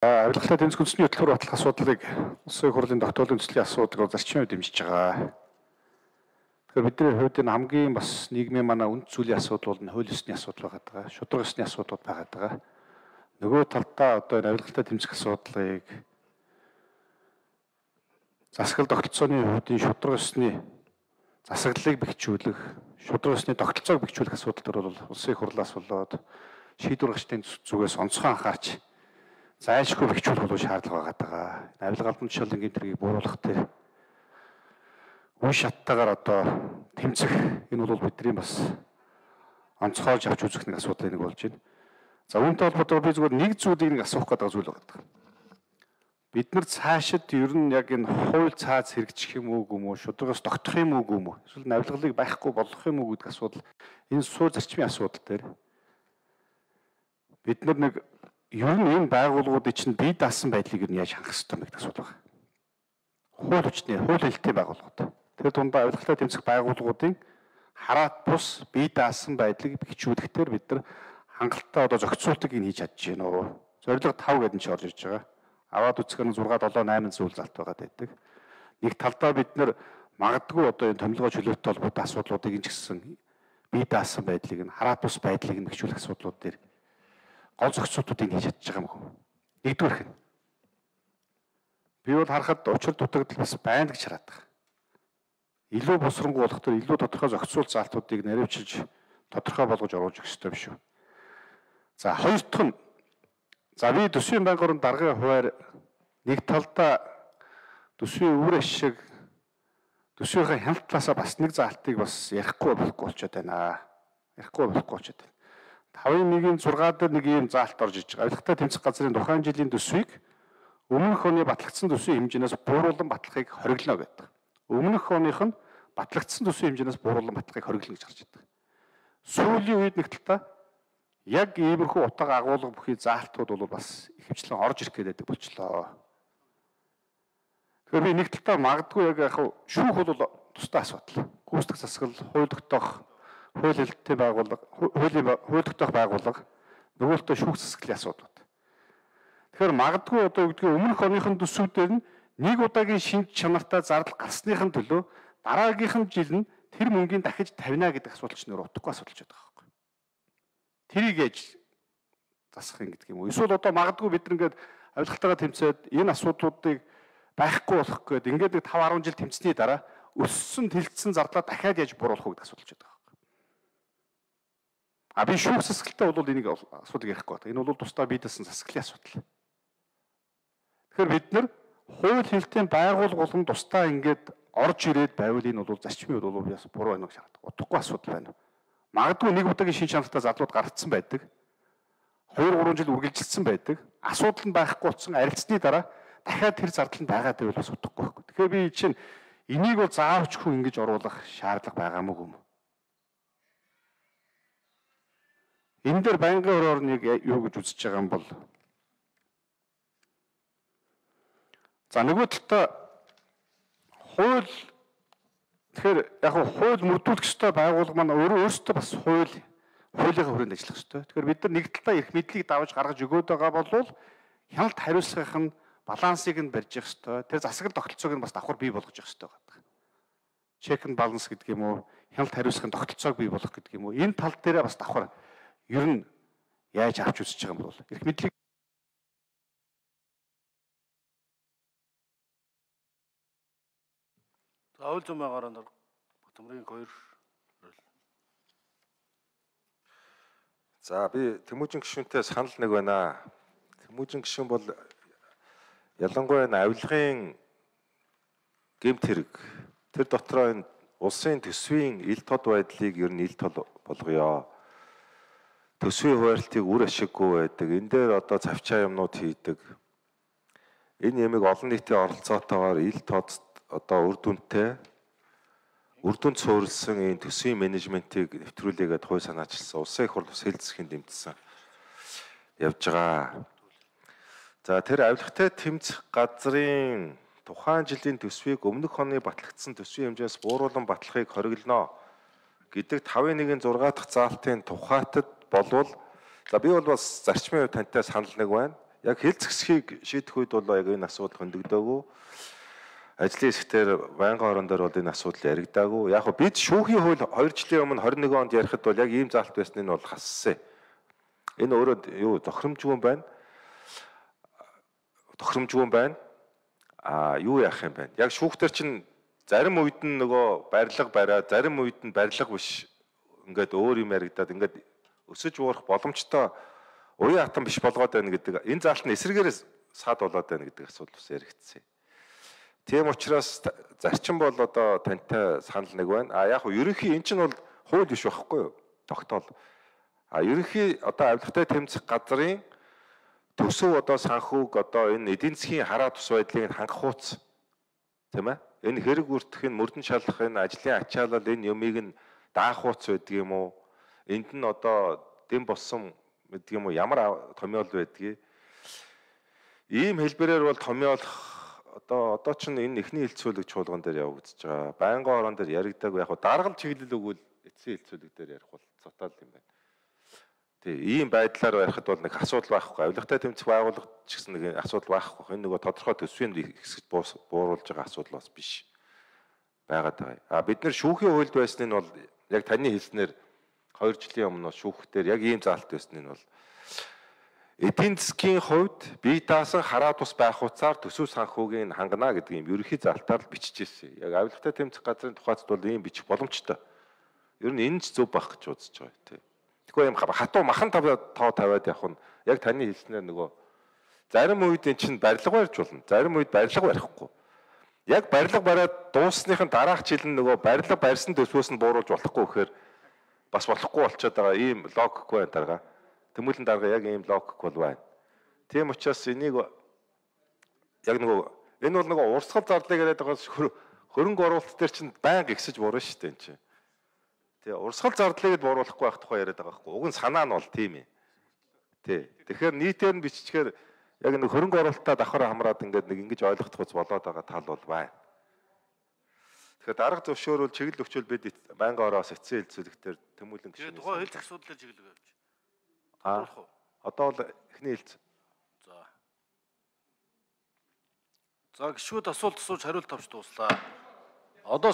Авилгалтай тэмцэх үндэсний хөтөлбөр батлах асуудлыг улсын хурлын тогтоолын төслийн асуудлыг зарчмын үед дэмжиж байгаа. Тэгэхээр бидний хувьд энэ хамгийн бас нийгмийн манай үнд зүйлийн асуудал бол хууль ёсны асуудал байгаа. Шударга ёсны асуудлууд байгаа. Нөгөө талдаа одоо энэ авилгалтай тэмцэх асуудлыг засаглал тогтолцооны үүдийн шударга ёсны засаглалыг бэхжүүлэх, шударга ёсны тогтолцоог бэхжүүлэх асуудал төр бол улсын хурлаас болоод шийдвэр гаргачдын зүгээс онцгой анхаарч зайлшгүй бэхжүүлэх болов шаардлага байгаа. Авилгалын шалангийн тэргийг бууруулах тэр үе шаттайгаар одоо тэмцэх энэ бол бидний бас онцгойж авч үзэх нэг асуудал нэг болж байна. За үүнтэй холбоотойгоор би зүгээр нэг зүйлийг нэг асуух гэдэг зүйл байна. Бид нар цаашид ер нь яг энэ хууль цааз хэрэгжих юм уу гүм үү, шударгаас тогтох юм уу гүм үү, эсвэл авилгалыг байхгүй болгох юм уу гэдэг асуудал энэ суу зарчмын асуудал дээр бид нар нэг ер нь энэ байгууллагуудын чинь бие даасан байдлыг ер нь яаж хангах ёстой гэдэг асуудал байна. Хууль хүчний, хууль хэлтэй байгууллагууд. Тэр дундаа авилгалтай тэмцэх байгууллагуудын хараат бус бие даасан байдлыг бэхжүүлэхээр бид нар хангалттай одоо зохицуултыг хийж чадж байна уу? Зорилго 5 гэдэг нь ч орж ирж байгаа. Аваад үзэх нь 6, 7, 8 зүйл залт байгаа байдаг. Нэг талдаа бид нар магадгүй одоо энэ томилгоо чөлөөтэй холбоотой асуудлуудыг энэ ч гэсэн бие даасан байдлыг нь хараат бус байдлыг нь бэхжүүлэх асуудлууд дээр гол зохицуултуудыг хийж чадж байгаа юм уу? Нэгдүгээрх нь. Би бол харахад учир дутагдал бас байна гэж хараад байгаа. Илүү босронгуй болох төр илүү тодорхой зохицуул заалтуудыг наривчилж тодорхой болгож оруулж өгөх ёстой юм шүү. За хоёр дахь нь за би төсвийн банк орон даргын хуваар нэг талдаа төсвийн өвөр ашиг төсвийнхээ хяналт талаасаа бас нэг заалтыг бас ярихгүй болчиход байна. Ярихгүй болчиход байна. 5.1-6 дээр нэг ийм заалт орж иж байгаа. Авилгалтай тэмцэх газрын тухайн жилийн төсвийг өмнөх оны батлагдсан төсвийн хэмжээс бууруулан батлахыг хориглоно гэдэг. Өмнөх оных нь батлагдсан төсвийн хэмжээс бууруулан батлахыг хориглоно гэж гарч ирдэг. Сүүлийн үед нэг талдаа яг иймэрхүү утга агуулга бүхий заалтууд бол бас ихэвчлэн орж ирэх гэдэг болчлоо. Тэгэхээр би нэг талдаа магадгүй яг шүүх бол тусдаа асуудал. Гүйцэтгэх засаглал, хууль тогтоох, хууль хэлттэй байгууллага, хууль тогтоох байгууллага, нөгөөлтөө шүүх засаглалын асуудал. Тэгэхээр магадгүй одоо үгдгийн өмнөх оныхын төсвүүдээр нь нэг удаагийн шинж чанартай зардал гарсныхын төлөө дараагийнхан жил нь тэр мөнгөний дахиж тавина гэдэг асуудал ч нөр утгагүй асуудал ч байгаа байхгүй. Тэрийг яаж засах юм гэдэг юм уу? Эсвэл одоо магадгүй бид ингээд авилгалтайгаа тэмцээд энэ асуудлуудыг байхгүй болох гээд ингээд 5-10 жил тэмцсэний дараа өссөн тэлцсэн зардлаа дахиад яаж бууруулах вэ гэдэг асуудал ч байгаа байхгүй. А би шүүх засаглалтай бол энийг асуудыг ярихгүй байна. Энэ бол тусдаа бие даасан засаглалын асуудал. Тэгэхээр бид нар хууль хэлтийн байгууллага болон тусдаа ингээд орж ирээд байвал энэ бол зарчмын үед бол яс буруу байна гэж харагдав. Утгагүй асуудал байна. Магадгүй нэг удаагийн шин чанартай задлууд гарцсан байдаг. 2-3 жил үргэлжилсэн байдаг. Асуудал нь байхгүй болсон арилцсны дараа дахиад тэр зардал нь байгаа гэвэл бас утгагүй байхгүй. Тэгэхээр би чинь энийг бол заавчгүй ингэж оруулах шаардлага байгаа мó юм. Энэ дээр байнгын өрөөр нэг юу гэж үзэж байгаа юм бол за нөгөө талдаа хууль тэгэхээр яг хууль мөрдүүлэх ёстой байгууллага маань өөрөөсөө бас хуулийнхаа хүрээнд ажиллах ёстой. Тэгэхээр бид нар нэг талдаа эрх мэдлийг давж гаргаж өгөөд байгаа бол хяналт хариуцлагын балансыг нь барьж явах ёстой. Тэр засаглал тогтолцоог нь бас давхар бий болгож явах ёстой байдаг. Check and balance гэдэг юм уу? Хяналт хариуцлагын тогтолцоог бий болгох гэдэг юм уу? Энэ тал дээрээ бас давхар ер нь яаж авч үзэж байгаа юм бол эрх мэдлийг Заавал зумаагаар Батмрын 2. За би Тэмүүжин гишүүнтэй санал нэг байна. Тэмүүжин гишүүн бол ялангуяа энэ авилгын гэмт хэрэг тэр дотроо энэ улсын төсвийн ил тод байдлыг ер нь ил тод болгоё. Төсвийн хуваарлтыг үр ашиггүй байдаг. Энэ дээр одоо цавчаа юмнууд хийдэг. Энэ ямиг олон нийтийн оролцоотойгоор ил тод одоо үр дүнд суурилсан энэ төсвийн менежментийг нэвтрүүлээгээд хууль санаачилсан улсын их хурл хэлцэхийн дэмжсэн явж байгаа. За тэр авилгатай тэмцэх газрын тухайн жилийн төсвийг өмнөх оны батлагдсан төсвийн хэмжээс бууруулан батлахыг хориглоно гэдэг 5.1-6 дахь заалтын тухайтад болвол за би бол бас зарчмын хувьд тантай санал нэг байна. Яг хэлц хэсгийг шийдэх үед бол яг энэ асуудал хөндөгдөөгүй. Ажлын хэсгээр байнгын орон дээр бол энэ асуудал яригдаагүй. Яг бид шүүхийн хууль 2 жилийн өмнө 21 онд ярихад бол яг ийм заалт байсныг нь бол хассан. Энэ өөрөө юу тохиромжгүй байна. Юу яах юм бэ? Яг шүүхтэр чинь зарим үед нь нөгөө барилга бариад, зарим үед нь барилга биш. Ингээд өөр юм яригдаад ингээд өсөж уурах боломжтой уян хатан биш болгоод байна гэдэг. Энэ заалт нь эсрэгээрээ саад болоод байна гэдэг асуудал бас яригдсан. Тийм учраас зарчим бол одоо тантай санал нэг байна. Яг нь ерөнхий эн чинь бол хууль биш байхгүй юу? Тогтоол. Ерөнхий одоо авилгатай тэмцэх газрын төсөв одоо санхүүг одоо энэ эдийн засгийн хараа тус байдлыг хангах хууц. Тийм ээ? Энэ хэрэг үрдэх нь мөрдөн шалгах энэ ажлын ачаалал энэ юмыг нь даах хууц байдаг юм уу? Энд нь одоо дэм болсон гэдэг юм уу? Ямар томьёол байдгийг. Ийм хэлбэрээр бол томьёолох одоо ч энэ эхний хилцүүлэг чуулган дээр явагдаж байгаа. Байнгын орон дээр яригдаагүй яг даргал чиглэл өгвөл эцсийн хилцүүлэг дээр ярих бол цотаал юм байна. Тий, ийм байдлаар ярихад бол нэг асуудал байхгүй. Авилгатай тэмцэх байгууллага ч гэсэн нэг асуудал байхгүй. Энэ нөгөө тодорхой төсвийн хэсэгт бууруулж байгаа асуудал бас биш байгаад байгаа. Бид нэр шүүхийн хуульд байсны нь бол яг таны хэлснээр 2 жилийн өмнө шүүхтэр яг ийм заалт байсны нь бол эдийн засгийн хувьд бие даасан хараа тус байх хуцаар төсөв санхүүгийн хангана гэдэг юм ерөнхий залтаар л биччихсэн. Яг авилгатай тэмцэх газрын тухайд бол ийм бичих боломжтой. Ер нь энэ ч зөв байх гэж үзэж байгаа тийм. Тэгэхгүй юм хатуу махан тоо тавиад явах нь яг таны хэлснээр нөгөө зарим үед эн чинь барилга барьж болно. Зарим үед барилга барихгүй. Яг барилга бариад дууссныхын дараах жил нь нөгөө барилга барьсан төсвөөс нь бууруулж болохгүй гэхээр бас болохгүй болчиход байгаа ийм логикгүй байна дарга. Тэмүүлэн дарга яг ийм логик бол байна. Тийм учраас энийг яг нөгөө энэ бол нөгөө урсгал зарлыг яриад байгаас хөрөнгө оруулалт төр чинь байнга ихсэж буурна шүү дээ энэ чинь. Тий, урсгал зардлыг бууруулахгүй байх тухай яриад байгаа байхгүй. Уг нь санаа нь бол тийм юм. Тий. Тэгэхээр нийтээр нь биччихээр яг нэг хөрөнгө оруулалтаа давхар хамраад ингээд нэг ингэж ойлгох хуц болоод байгаа тал бол байна. Тэгэхээр дарга зөвшөөрөл чиглэл өчөөл бид байнгын ороос эцсийн хилцүүлэгтэр тэмүүлэн гişүн. Тэгээ тухайн хэлц асуудлаар чиглэл авч. Одоо бол эхний хэлц. За гişүүд асуулт асууж хариулт авч дууслаа. Одоо